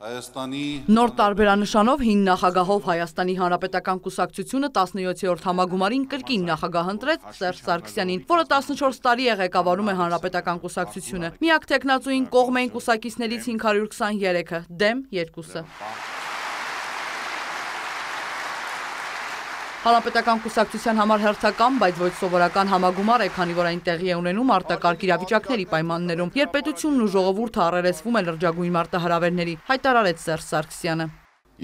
Նոր տարբերանշանով հին նախագահով Հայաստանի Հանրապետական կուսակցությունը 17-րդ համագումարին կրկին նախագահ ընտրեց Սերժ Սարգսյանին, որը 14 տարի է ղեկավարում է Հանրապետական կուսակցությունը։ Միակ թեկնածուին կողմ էին կուսակիցներից 523-ը, դեմ 2-ը։ Հանրապետական կուսակցության համար հերթական, բայց ոչ սովորական համագումար է, քանի որ այն տեղի է ունենում արտակարգ իրավիճակների պայմաններում, երբ պետությունն ու ժողովուրդը առերեսվում է լրջագույն մարտահրավերների, հայտարարեց Սերժ Սարգսյանը։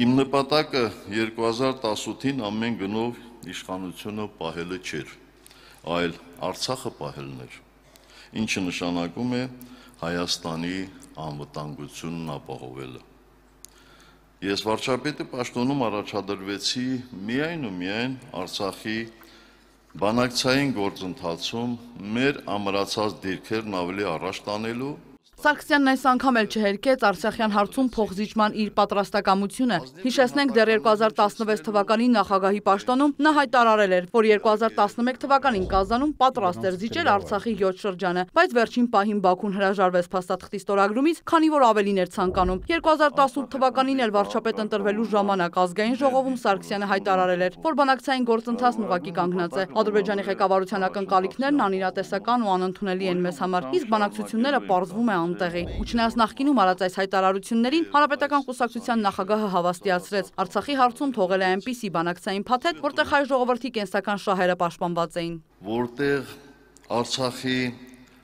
Իմ նպատակը 2018-ին ամեն գնով իշխանությունը պահելը չէր, այլ Արցախը պահելն էր, ինչը նշանակում է Հայաստանի անվտանգությունն ապահովելը։ Ես վարչապետի պաշտոնում առաջադրվեցի միայն ու միայն Արցախի բանակցային գործընթացում մեր ամրացած դիրքերն ավելի առաջ տանելու։ Սարգսյանն այս անգամ էլ չհերքեց Արցախյան հարցում փոխզիջման իր պատրաստակամությունը։ Հիշեցնենք, դեռ 2016 թվականի նախագահի պաշտոնում նա հայտարարել էր, որ 2011 թվականին Կազանում պատրաստ էր զիջել Արցախի 7 շրջանը, բայց վերջին պահին Բաքուն հրաժարվեց փաստաթղթի ստորագրումից, քանի որ ավելին էր ցանկանում։ 2018 թվականին էլ վարչապետ ընտրվելու ժամանակ ազգային ժողովում Սարգսյանը հայտարարել էր, որ բանակցային գործընթացն ուղղակի կանգնած է։ Ադրբեջանի ղեկավարության ակնկալիքներն անիրատեսական ու անընդունելի են մեզ համար, իսկ բանակցությունները պարզվում է ու չնայած նախկինում արած այս հայտարարություններին Հանրապետական կուսակցության նախագահը հավաստիացրեց, Արցախի հարցում թողել է այնպիսի բանակցային փաթեթ, որտեղ հայ ժողովրդի կենսական շահերը պաշտպանված էին։ Որտեղ Արցախի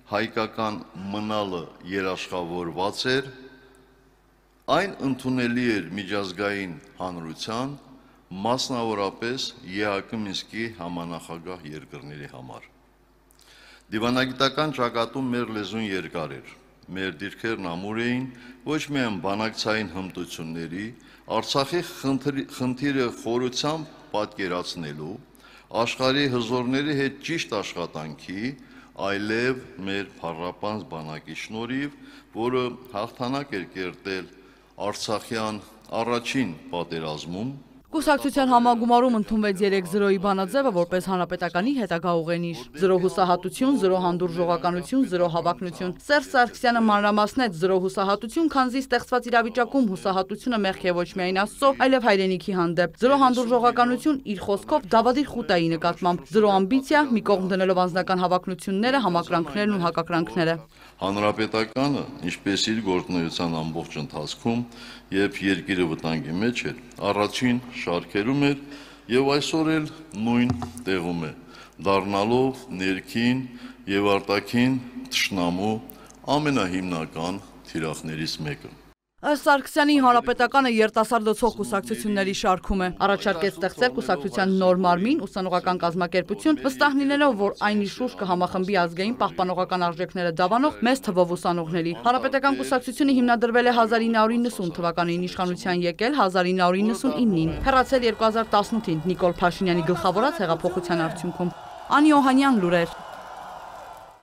հայկական մնալը երաշխավորված էր, այն ընդունելի էր միջազգային հանրության, մասնավորապես ԵԱՀԿ Մինսկի համանախագահ երկրների համար։ Դիվանագիտական ճակատում մեր լեզուն երկար էր։ Մեր դիրքերն ամուր էին ոչ միայն բանակցային հմտությունների, Արցախի խնդիրը խորությամբ պատկերացնելու, աշխարհի հզորների հետ ճիշտ աշխատանքի, այլև մեր փառապանծ բանակի շնորհիվ, որը հաղթանակ էր կերտել Արցախյան առաջին պատերազմում։ Կուսակցության համագումարում ընդունվեց 3-0-ի բանաձևը որպես հանրապետականի հետագա ուղենիշ։ 0 հուսահատություն, 0 հանդուրժողականություն, 0 հավակնություն։ Սերժ Սարգսյանը մանրամասնեց 0 հուսահատություն, քանզի ստեղծված իրավիճակում հուսահատությունը մեղք է ոչ միայն Աստծո, այլև հայրենիքի հանդեպ։ 0 հանդուրժողականություն իր խոսքով դավադիր խուտայի նկատմամբ։ 0 ամբիցիա, մի կողմ դնելով անձնական հավակնությունները, համակրանքներն ու հակակրանքները։ Հանրապետականը, ինչպես իր գործունեության ամբողջ ընթացքում, երբ երկիրը վտանգի մեջ էր, առաջին շարքերում էր եւ այսօր էլ նույն տեղում է, դառնալով ներքին եւ արտաքին թշնամու ամենահիմնական թիրախներից մեկը։ Ըստ Սարգսյանի Հանրապետականը երիտասարդացող կուսակցությունների շարքում է։ Առաջարկեց ստեղծել կուսակցության նոր մարմին, ուսանողական կազմակերպություն, վստահ լինելով, որ այն իր շուրջ կհամախմբի ազգային պահպանողական արժեքները դավանող մեծ թվով ուսանողների։ Հանրապետական կուսակցությունը հիմնադրվել է 1990 թվականին, իշխանության եկել 1999-ին, հեռացել 2018-ին Նիկոլ Փաշինյանի գլխավորած հեղափոխության արդյունքում։ Անի Օհանյան, լուրեր։